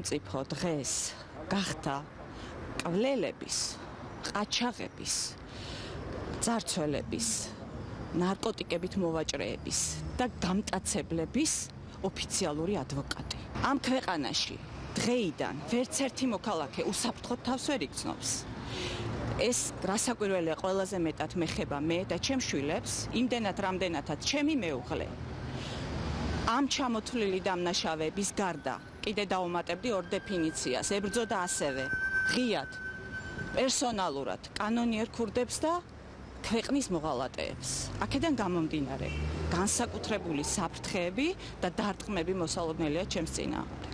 სახელმწიფო დღეს გახდა კვლელების, ყაჩაღების, ძარცველების, ნარკოტიკებით მოვაჭრეების და გამტაცებლების ოფიციალური ადვოკატი. ამ ქვეყანაში დღეიდან ვერც ერთი მოქალაქე უსაფრთხოდ თავს ვერ იგრძნობს. ეს რასაკვირველია ყველაზე მეტად მეხება მე და ჩემს შვილებს, იმდენად რამდენადაც ჩემი მეუღლე. ამ ჩამოთვლილი დამნაშავეების გარდა კიდე დავუმატებდი ორ დეფინიციას. ებრძოდა ასევე ღიად, პერსონალურად კანონიერ ქურდებს და ქვეყნის მოღალატეებს. აქედან გამომდინარე, განსაკუთრებული საფრთხეები და დარტყმები მოსალოდნელია ჩემს წინააღმდეგ.